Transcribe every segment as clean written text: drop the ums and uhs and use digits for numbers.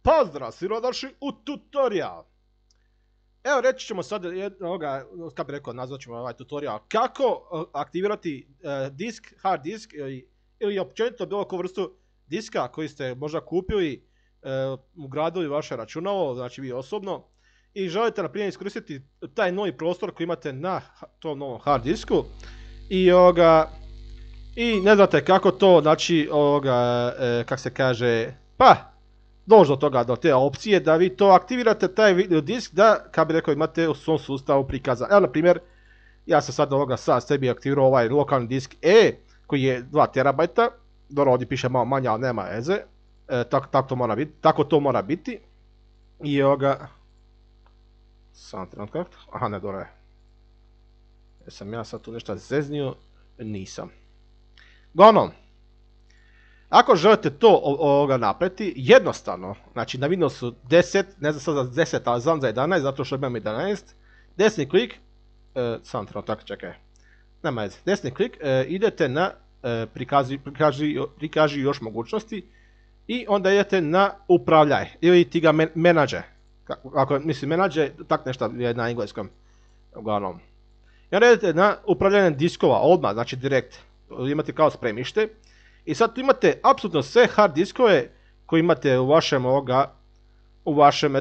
Pozdrav, svi došli u tutorial. Evo reći ćemo sad kako bi rekao, nazvat ćemo ovaj tutorial kako aktivirati disk, hard disk ili općenito bilo koju vrstu diska koji ste možda kupili, ugradili vaše računalo, znači vi osobno, i želite na primjer iskoristiti taj novi prostor koji imate na tom novom hard disku i ne znate kako to, znači kako se kaže, doći do toga, do te opcije da vi to aktivirate taj video disk da, kako bi rekao, imate u svom sustavu prikazan. Evo na primjer, ja sam sad sebi aktivirao ovaj lokalni disk E koji je 2 terabajta, dobro ovdje piše malo manje, ali nema veze, tako to mora biti. I sam trenutak, aha ne, dobro je. Jesam ja sad tu nešto zeznio? Nisam. Uglavnom, ako želite to napraviti, jednostavno, znači na Windowsu 10, ne znam sad za 10, ali znam za 11, zato što imam 11, desni klik, sam trenutak, čekaj, nema veze, desni klik, idete na prikaži još mogućnosti i onda idete na upravljaj ili ti ga menadže, ako mislim menadže, tak nešto je na engleskom, uglavnom. I onda idete na upravljanje diskova, odmah, znači direkt, imate kao spremište. I sad tu imate apsolutno sve hard diskove koje imate u vašem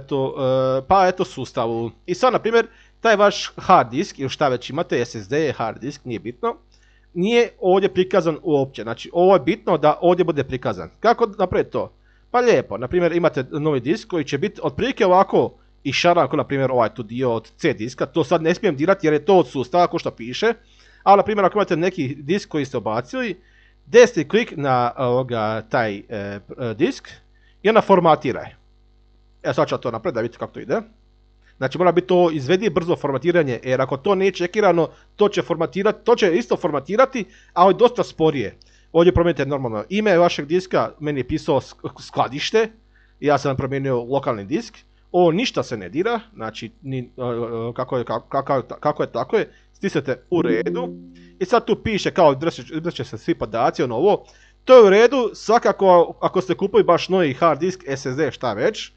sustavu. I sad na primjer taj vaš hard disk ili šta već imate, SSD, hard disk, nije bitno, nije ovdje prikazan uopće. Znači ovo je bitno da ovdje bude prikazan. Kako napraviti to? Pa lijepo, na primjer imate novi disk koji će biti otprilike ovako išaran, ako na primjer ovaj tu dio od C diska, to sad ne smijem dirati jer je to od sustava ko što piše, ali na primjer ako imate neki disk koji ste obacili, desni klik na taj disk i onda formatiraj. Sad ću to napraviti da vidite kako to ide. Znači mora biti to izvedivo brzo formatiranje, jer ako to nije čekirano, to će isto formatirati, ali dosta sporije. Ovdje promijenite normalno ime vašeg diska, meni je pisao skladište, i ja sam promijenio lokalni disk. Ovo ništa se ne dira, znači kako je tako je, stisnete u redu. I sad tu piše kao izbrisće se svi podaci, ovo. To je u redu, svakako ako ste kupili baš novi hard disk, SSD, šta već,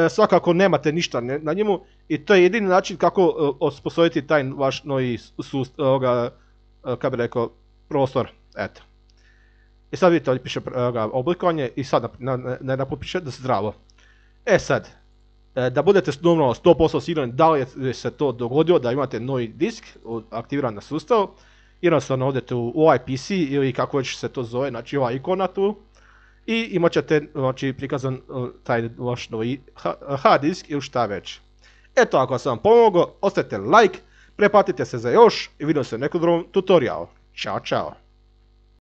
svakako nemate ništa na njemu i to je jedini način kako osposobiti taj vaš novi kako bi rekao, prostor, eto. I sad vidite ovdje piše oblikovanje i sad naput piše da zdravo. Sad, da budete 100% sigurni da li je se to dogodilo, da imate novi disk aktiviran na sustavu, jednostavno odete u ovaj PC ili kako već se to zove, znači ova ikona tu, i imat ćete prikazan taj vaš novi hard disk ili šta već. Eto, ako sam vam pomogao, ostavite like, preplatite se za još i vidimo se u nekom drugom tutorialu. Ćao, čao!